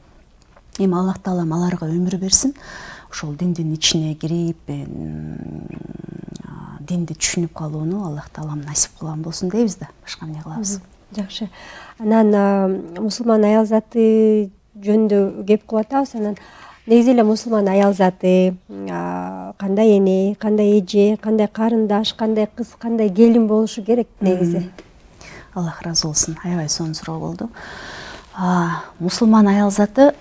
Эми Аллах Таалам аларга өмүр берсин. Ошол диндин ичине кирип, динди түшүнүп калууну Аллах Таалам насип кылган болсун дейбиз да. Башка эмне кылабыз? Жакшы. Анан мусулман аял заты жөнүндө кеп кылып атабыз. Анан негизи эле мусулман аял заты кандай эне, кандай эже, кандай карындаш, кандай кыз, кандай келин болушу керек негизи? Аллах ыраазы болсун. Аябай сонун суроо болду. Мусулман аял заты,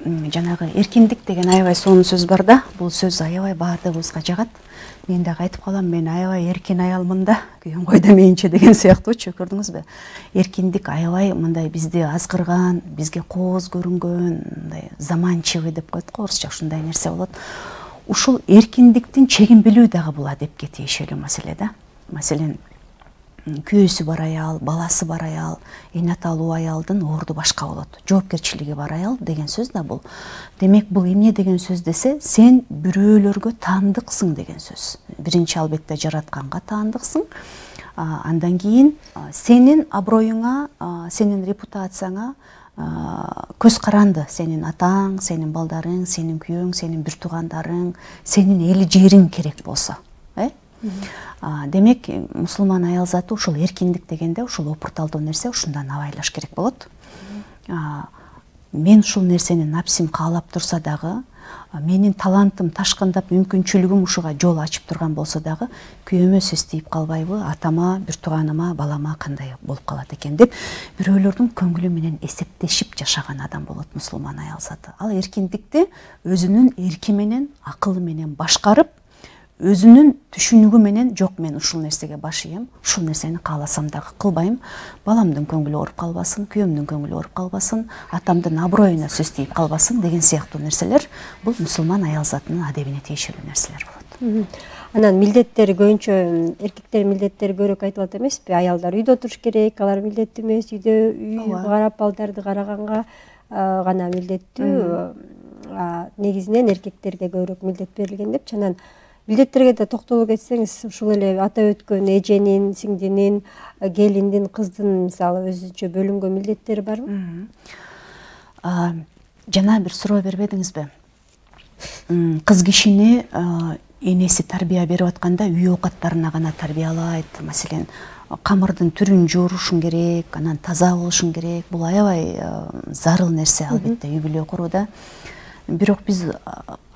жанагы эркиндик деген аябай сонун сөз бар да. Бул сөз аябай баардыгыбызга жагат. Мен дагы айтып калам, мен аябай эркин аялмын да, күйөөм койдо менче деген сыяктуучу, көрдүңүзбү? Эркиндик аябай мындай бизди азгырган, бизге кооз көрүнгөн, мындай заманчивый деп коет го орусча, ушундай нерсе болот. Ушул эркиндиктин чегин билүү дагы бул адепке тиешелүү маселе да. Маселен, күйөөсү бар аял, баласы бар аял, эне аталуу аялдын орду башка болот. Жоопкерчилиги бар аял деген сөз да бул. Демек бул эмне деген сөз десе, сен бирөөлөргө таандыксың деген сөз. Биринчи албетте жаратканга таандыксың. Андан кийин сенин аброюңа, сенин репутацияңа көз каранды. Сенин атаң, сенин балдарың, сенин күйөөң, сенин бир туугандарың, сенин эл жериң керек болсо. Демек мусулман аял заты ушул эркиндик дегенде ушул опурталдуу нерсе ушундан абайлаш керек болот. Мен ушул нерсени напсим каалап турса дагы, менин талантым ташкындап, мүмкүнчүлүгүм ушуга жол ачып турган болсо дагы, күйөөмө сөз тийип калбайбы, атама, бир тууганыма, балама кандай болуп калат экен деп бирөөлөрдүн көңүлү менен эсептешип жашаган адам болот мусулман аял заты. Ал эркиндикти өзүнүн эрки менен, акылы менен башкарып, өзүнүн түшүнүгү менен, жок мен ушул нерсеге баш ийем, ушул нерсени кааласам дагы кылбайм, баламдын көңүлү ооруп калбасын, күйөөмдүн көңүлү ооруп калбасын, атамдын аброюна сөз тийип калбасын деген сыяктуу нерселер бул мусулман аял затынын адебине тиешелүү нерселер болот. Анан милдеттери көбүнчө эркектердин милдеттери көбүрөөк айтылат эмеспи? Аялдар үйдө отуруш керек, алар милдеттүү эмес, үйдө үй карап балдарды караганга гана милдеттүү. Негизинен эркектерге көбүрөөк милдет берилген депчи. Анан милдеттерге да токтоло кетсеңиз, ушул эле атап өткөн эженин, сиңдинин, келиндин, кыздын мисалы өзүнчө бөлүнгөн милдеттери барбы? Жана бир суроо бербедиңизби? Кыз кишини энеси тарбия берип атканда үй оокаттарына гана тарбиялайт. Маселен, камырдын түрүн жуурушуң керек, анан таза болушуң керек. Бул аябай зарыл нерсе албетте үй бүлө курууда. Бирок биз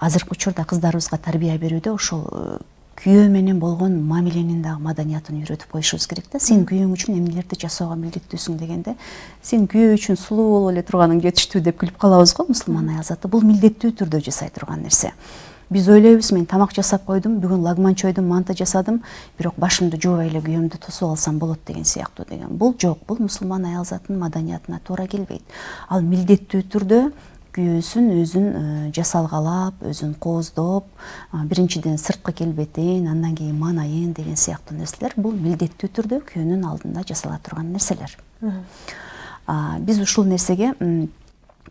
азыркы учурда кыздарыбызга тарбия берүүдө ошол күйөө менен болгон мамиленин дагы маданиятын үйрөтүп коюшубуз керек да. Сен күйөөң үчүн эмнелерди жасоого милдеттүүсүң дегенде, сен күйөө үчүн сулуу болуп эле турганың жетиштүү деп күлүп калабыз го мусулман аял заты. Бул милдеттүү түрдө жасай турган нерсе. Биз ойлойбуз, мен тамак жасап койдум, бүгүн лагман чойдум, манты жасадым, бирок башымды жуубай эле күйөөмдү тосуп алсам болот деген сыяктуу деген. Бул жок, бул мусулман аял затынын маданиятына туура келбейт. Ал милдеттүү түрдө күйөөсүн өзүн жасалгалап, өзүн кооздоп, биринчиден сырткы келбетин, андан кийин маанайын деген сыяктуу нерселер бул милдеттүү түрдө күйөөнүн алдында жасала турган нерселер. Биз ушул нерсеге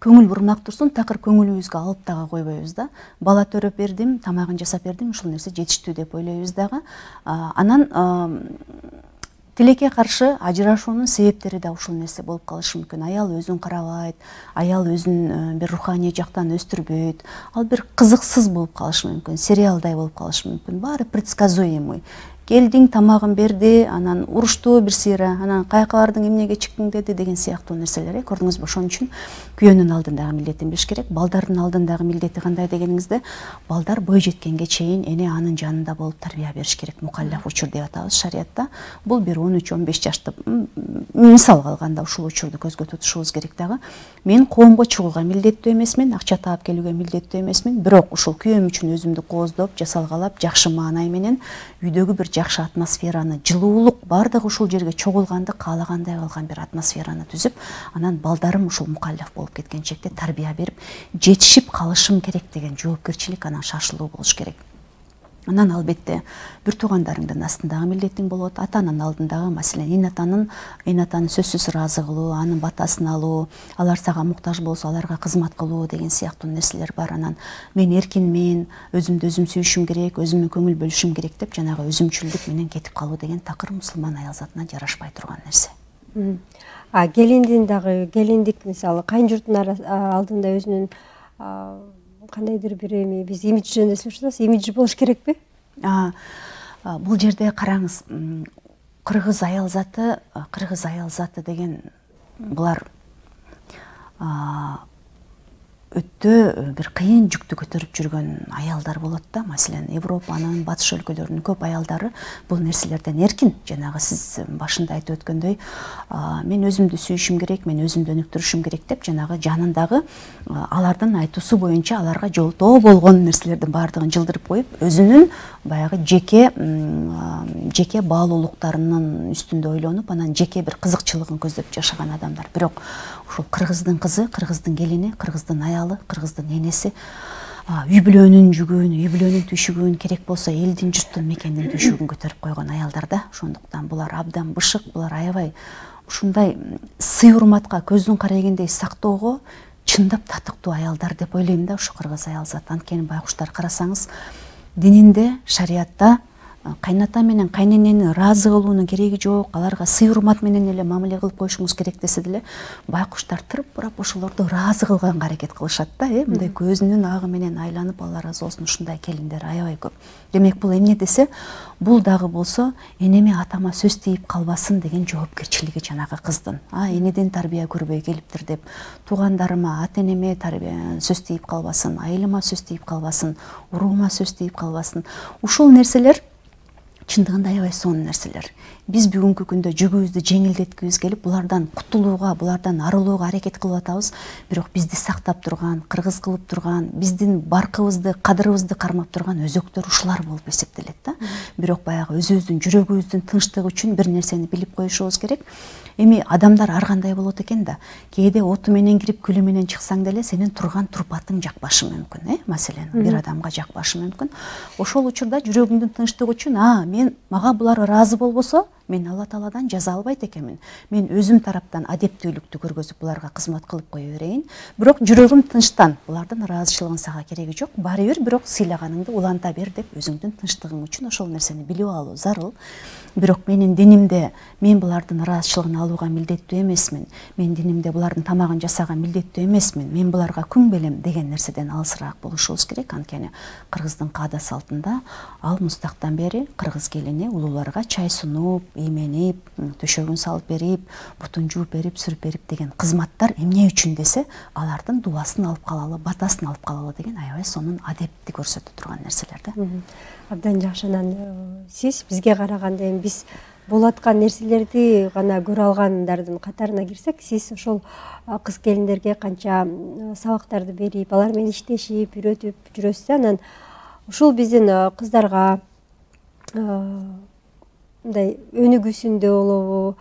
көңүл бурмак турсун, такыр көңүлүбүзгө алып дагы койбойбуз да. Бала төрөп бердим, тамагын жасап бердим, ушул нерсе жетиштүү деп ойлойбуз дагы. Анан тилекке каршы ажырашуунун себептери да ушул нерсе болуп калышы мүмкүн. Аял өзүн карабайт, аял өзүн бир руханий жактан өстүрбөйт. Ал бир кызыксыз болуп калышы мүмкүн, сериалдай болуп калышы мүмкүн. Баары предсказуемый. Келдиң, тамагын берди, анан урушту бир сыйра, анан кайкалардың эмнеге чыктың деди деген сыяктуу нерселер. Көрдүңүзбү? Ошон үчүн күйөөнүн алдындагы милдетин билиш керек. Балдардын алдындагы милдети кандай дегениңизде, балдар бой жеткенге чейин эне анын жанында болуп тарбия бериш керек. Мукаллаф учур деп атабыз шариятта. Бул бир 13-15 жашты мисалга алганда ушул учурду көзгө тутушубуз керек дагы. Мен коомго чыгууга милдеттүү эмесмин, акча таап келүүгө милдеттүү эмесмин, бирок ушул күйөөм үчүн өзүмдү кооздоп, жасалгалап, жакшы маанай менен үйдөгү бир жакшы атмосфераны, жылуулук бардыгы ушул жерге чогулганды каалагандай кылган бир атмосфераны түзүп, анан балдарым ушул мукаллаф болуп кеткен чекте тарбия берип, жетишип калышым керек деген жоопкерчилик, анан шашылуу болуш керек. Анан албетте бир туугандарыңдын астындагы милдетиң болот, атанын алдындагы, маселен, эне атаны сөзсүз ыраазы кылуу, анын батасын алуу, алар сага муктаж болсо аларга кызмат кылуу деген сыяктуу нерселер бар. Анан мен эркинмин, өзүмдү өзүм сүйүшүм керек, өзүмө көңүл бөлүшүм керек деп жанагы өзүмчүлдүк менен кетип калуу деген такыр мусулман аял затына жарашпай турган нерсе. Келиндин дагы, келиндик мисалы кайын журттун алдында өзүнүн кандайдыр бир эми, биз имидж жөнүндө сүйлөшүп атабыз, имиджи болуш керекпи? Бул жерде караңыз, кыргыз аял заты деген булар өтө бир кыйын жүктү көтөрүп жүргөн аялдар болот да. Маселен, Европанын, батыш өлкөлөрүнүн көп аялдары бул нерселерден эркин. Жанагы сиз башында айтып өткөндөй, мен өзүмдү сүйүшүм керек, мен өзүмдү өнүктүрүшүм керек деп жанагы жанындагы алардын айтуусу боюнча аларга жолтоо болгон нерселердин баардыгын жылдырып коюп, өзүнүн баягы жеке баалуулуктарынын үстүндө ойлонуп, анан жеке бир кызыкчылыгын көздөп жашаган адамдар. Бирок ушул кыргыздын кызы, кыргыздын келини, кыргыздын аялы, кыргыздын энеси үй бүлөнүн жүгүн, үй бүлөнүн түйшүгүн, керек болсо элдин журттун мекендин түйшүгүн көтөрүп койгон аялдар да. Ошондуктан булар абдан бышык, булар аябай ушундай сый урматка көздүн карайгендей сактоого чындап татыктуу аялдар деп ойлойм да ушу кыргыз аял зат. Анткени байкуштар карасаңыз дининде, шариятта кайната менен кайненени ыраазы кылуунун кереги жок, аларга сый урмат менен эле мамиле кылып коюшуңуз керек десе деле, байкуштар тырып бурап ошолорду ыраазы кылганга аракет кылышат да, мындай көзүнүн агы менен айланып, алла ыраазы болсун, ушундай келиндер аябай көп. Демек бул эмне десе, бул дагы болсо энеме атама сөз тийип калбасын деген жоопкерчилиги жанагы кыздын. Энеден тарбия көрбөй келиптир деп, туугандарыма, ата энеме тарбия сөз тийип калбасын, айылыма сөз тийип калбасын, уруума сөз тийип калбасын. Ушул нерселер чындыгында аябай сонун нерселер. Биз бүгүнкү күндө жүгүбүздү жеңилдеткибиз келип, булардан кутулууга, булардан арылууга аракет кылып атабыз. Бирок бизди сактап турган, кыргыз кылып турган, биздин баркыбызды, кадырыбызды кармап турган өзөктөр ушулар болуп эсептелет да. Бирок баягы өзүбүздүн жүрөгүбүздүн тынчтыгы үчүн бир нерсени билип коюшубуз керек. Эми адамдар ар кандай болот экен да. Кээде оту менен кирип күлү менен чыксаң деле сенин турган турпатың жакпашы мүмкүн, Маселен, бир адамга жакпашы мүмкүн. Ошол учурда жүрөгүңдүн тынчтыгы үчүн, мага булар ыраазы болбосо, мен Алла Тааладан жаза албайт экенмин. Мен өзүм тараптан адептүүлүктү көргөзүп буларга кызмат кылып кое берейин. Бирок жүрөгүм тынчтан, булардын ыраазычылыгын сага кереги жок. Баары бир бирок сыйлаганыңды уланта бер деп өзүңдүн тынчтыгың үчүн ошол нерсени билип алуу зарыл. Бирок менин динимде мен булардын ыраазычылыгын алууга милдеттүү эмесмин. Мен динимде булардын тамагын жасаага милдеттүү эмесмин. Мен буларга күң белем деген нерседен алысыраак болушубуз керек. Анткени кыргыздын каада салтында ал мустактан бери кыргыз келини улууларга чай сунуп, ийменип, төшөгүн салып берип, бутун жууп берип, сүрүп берип деген кызматтар эмне үчүн десе, алардын дубасын алып калалы, батасын алып калалы деген аябай сонун адепти көрсөтө турган нерселер да. Абдан жакшы. Анан сиз бизге караганда эми биз болуп аткан нерселерди гана көрө алгандардын катарына кирсек, сиз ошол кыз келиндерге канча сабактарды берип, алар менен иштешип, үйрөтүп жүрөсүз. Анан ушул биздин кыздарга мындай өнүгүүсүндө болобу,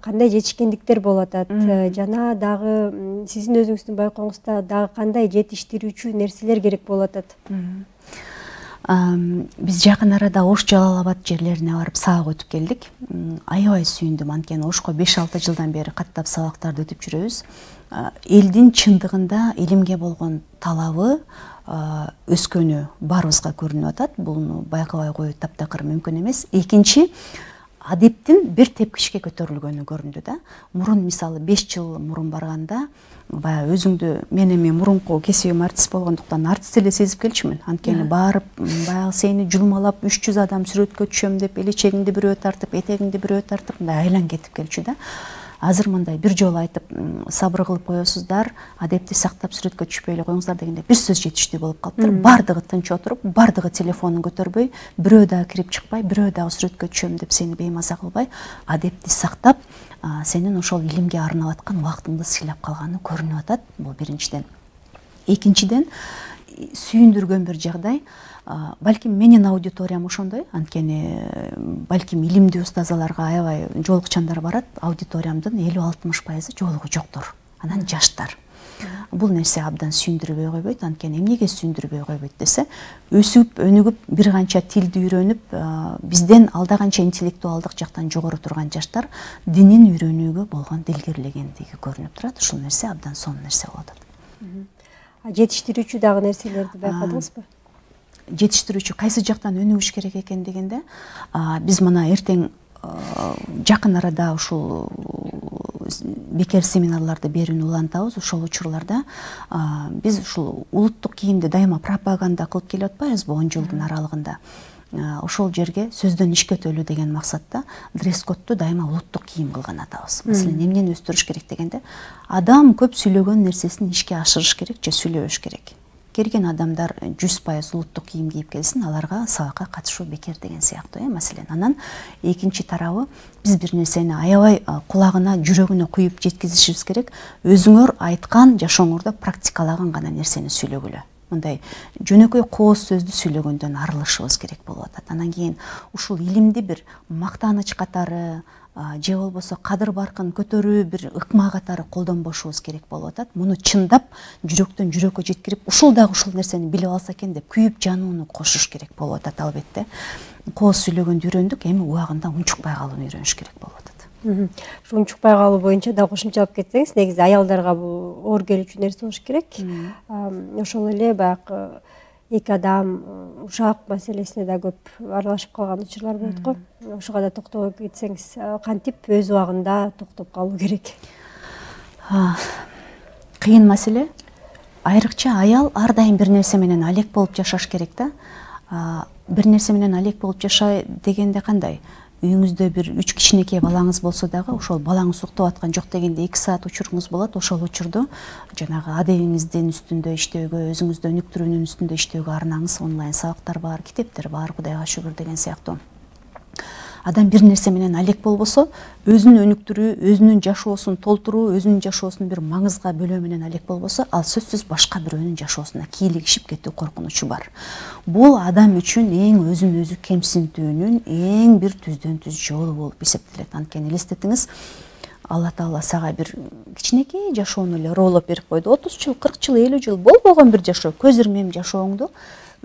кандай жетишкендиктер болуп атат, жана дагы сиздин өзүңүздүн байкооңузда дагы кандай жетиштирүүчү нерселер керек болуп атат? Биз жакын арада Ош, Жалал Абад жерлерине барып сабак өтүп келдик. Аябай сүйүндүм, анткени Ошко 5-6 жылдан бери каттап сабактарды өтүп жүрөбүз. Элдин чындыгында илимге болгон талабы өскөнү баарыбызга көрүнүп атат. Буну байкабай коюу таптакыр мүмкүн эмес. Экинчи, адептин бир тепкичке көтөрүлгөнү көрүндү да. Мурун мисалы 5 жыл мурун барганда, баягы өзүңдү, мен эми мурунку кесибим артист болгондуктан артист эле сезип келчүмүн. Анткени барып, баягы сени жулмалап 300 адам сүрөткө түшөм деп, элечегиңди бирөө тартып, этегиңди бирөө тартып, мындай айлан кетип келчү да. Азыр мындай бир жолу айтып, сабыр кылып коесуздар, адепти сактап сүрөткө түшпөй эле коюңуздар дегенде бир сөз жетиштүү болуп калыптыр. Бардыгы тынч отуруп, бардыгы телефонун көтөрбөй, бирөө дагы кирип чыкпай, бирөө дагы сүрөткө түшөм деп сени беймаза кылбай, адепти сактап, сенин ошол илимге арнап аткан убактыңды сыйлап калганы көрүнүп атат. Бул биринчиден. Экинчиден, сүйүндүргөн бир жагдай, балким менин аудиториям ошондой, анткени балким илимдүү устазаларга аябай жолукчандар барат, аудиториямдын 50-60% жолугу жоктор. Анан жаштар. Бул нерсе абдан сүйүндүрбөй койбойт. Анткени эмнеге сүйүндүрбөй койбойт десе, өсүп, өнүгүп, бир канча тилди үйрөнүп, бизден алда канча интеллектуалдык жактан жогору турган жаштар динин үйрөнүүгө болгон дилгерлегендиги көрүнүп турат. Ушул нерсе абдан сонун нерсе болуп атат. Жетиштирүүчү дагы нерселерди байкадыңызбы? Жетиштирүүчү кайсы жактан өнүгүш керек экен дегенде, биз мына эртең жакын арада ушул бекер семинарларды берүүнү улантабыз. Ошол учурларда биз ушул улуттук кийимди дайыма пропаганда кылып келип атпайбызбы 10 жылдын аралыгында. Ошол жерге сөздөн ишке өтөлү деген максатта дресс-кодду дайыма улуттук кийим кылган атабыз. Маселен, эмнени өстүрүш керек дегенде, адам көп сүйлөгөн нерсесин ишке ашырыш керек же сүйлөбөш керек. Келген адамдар 100% улуттук кийим кийип келсин, аларга сабакка катышуу бекер деген сыяктуу, маселен. Анан экинчи тарабы, биз бир нерсени аябай кулагына, жүрөгүнө куюп жеткизишибиз керек. Өзүңөр айткан, жашооңордо практикалаган гана нерсени сүйлөгүлө. Мындай жөнөкөй кооз сөздү сүйлөгөндөн арылышыбыз керек болуп атат. Анан кийин ушул илимди бир мактаныч катары, же болбосо кадыр баркын көтөрүү бир ыкма катары колдонбошубуз керек болуп атат. Муну чындап жүрөктөн жүрөккө жеткирип, ушул дагы ушул нерсени билип алса экен деп күйүп жанууну кошуш керек болуп атат албетте. Кооз сүйлөгөндү үйрөндүк, эми убагында унчукпай калууну үйрөнүш керек болуп атат. Ушу унчукпай калуу боюнча да кошумчалап кетсеңиз, негизи аялдарга бул оор келүүчү нерсе болуш керек. Ошол эле баягы эки адам ушак маселесине да көп аралашып калган учурлар болот го. Ошого да токтолуп кетсеңиз, кантип өз убагында токтоп калуу керек? Кыйын маселе. Айрыкча аял ар дайым бир нерсе менен алек болуп жашаш керек да. Бир нерсе менен алек болуп жашай дегенде кандай? Үйүңүздө бир 3 кичинекей балаңыз болсо дагы, ошол балаңыз уктап аткан жок дегенде 2 саат учуруңуз болот. Ошол учурду жанагы адебиңиздин үстүндө иштөөгө, өзүңүздө өнүктүрүүнүн үстүндө иштөөгө арнаңыз. Онлайн сабактар бар, китептер бар, Кудайга шүгүр деген сыяктуу. Адам бир нерсе менен алек болбосо, өзүн өнүктүрүү, өзүнүн жашоосун толтуруу, өзүнүн жашоосун бир маңызга бөлөө менен алек болбосо, ал сөзсүз башка бирөөнүн жашоосуна кийлигишип кетүү коркунучу бар. Бул адам үчүн эң өзүн өзү кемсинтүүнүн эң бир түздөн түз жолу болуп эсептелет. Анткени элестетиңиз, Алла Таала сага бир кичинекей жашоону эле роолоп берип койду. 30 жыл, 40 жыл, 50 жыл болбогон бир жашоо, көз ирмем жашооңду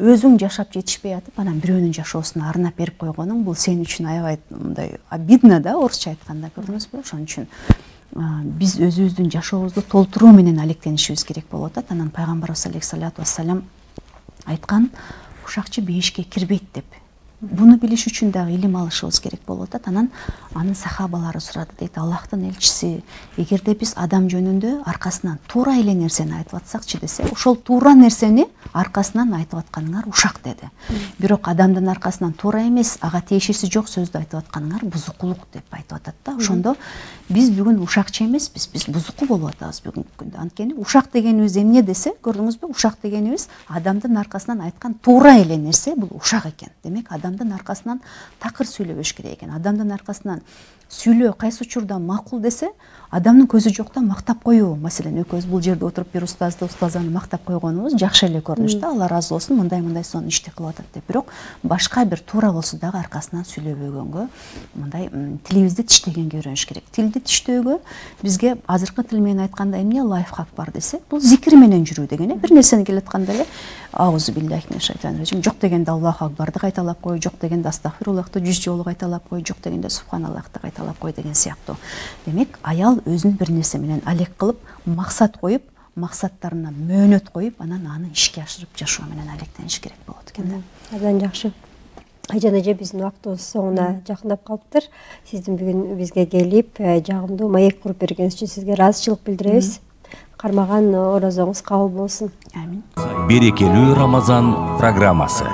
өзүң жашап жетишпей атып, анан бирөөнүн жашоосуна арнап берип койгонуң, бул сен үчүн аябай мындай обидно да, орусча айтканда, көрдүңүзбү? Ошон үчүн биз өзүбүздүн жашообузду толтуруу менен алектенишибиз керек болуп атат. Анан пайгамбарыбыз алейхиссалату вассалам айткан, ушакчы бейишке кирбейт деп. Буну билиш үчүн дагы илим алышыбыз керек болуп атат. Анан анын сахабалары сурады, дейт, Аллахтын элчиси, эгерде биз адам жөнүндө аркасынан туура эле нерсени айтып атсакчы десе, ошол туура нерсени аркасынан айтып атканыңар ушак деди. Бирок адамдын аркасынан туура эмес, ага тиешеси жок сөздү айтып атканыңар бузукулук деп айтып атат да. Ошондо биз бүгүн ушакчы эмеспиз, биз бузуку болуп атабыз бүгүнкү күндө. Анткени ушак дегенибиз эмне десе, көрдүңүзбү? Ушак дегенибиз адамдын аркасынан айткан туура эле нерсе, бул ушак экен. Демек, адамдын аркасынан такыр сүйлөбөш керек экен. Адамдын аркасынан сүйлөө кайсы учурда макул десе, адамдын көзү жокто мактап коюу. Маселен, экөөбүз бул жерде отуруп бир устазды, устазаны мактап койгонубуз жакшы эле көрүнүш да. Алла ыраазы болсун, мындай сонун ишти кылып атат деп. Бирок башка бир туура болсо дагы аркасынан сүйлөбөгөнгө, мындай тилибизди тиштегенге үйрөнүш керек. Тилди тиштөөгө бизге азыркы тил менен айтканда эмне лайфхак бар десе, бул зикир менен жүрүү деген. Бир нерсени келатканда эле аузу биллахи минаш шайтанир раджим, жок дегенде Аллаху акбарды кайталап кой, жок дегенде астагфируллахты 100 жолу кайталап кой, жок дегенде субханаллахты кайталап кой деген сыяктуу. Демек, аял өзүн бир нерсе менен алек кылып, максат коюп, максаттарына мөөнөт коюп, анан аны ишке ашырып жашоо менен алектениш керек болот экен да. Абдан жакшы. Айжан эже, биздин убактыбыз соңуна жакындап калыптыр. Сиздин бүгүн бизге келип, жагымдуу маек куруп бергениңиз үчүн сизге ыраазычылык билдиребиз. Кармаган оразоңуз кабыл болсун. Амин. Берекелүү Рамазан программасы.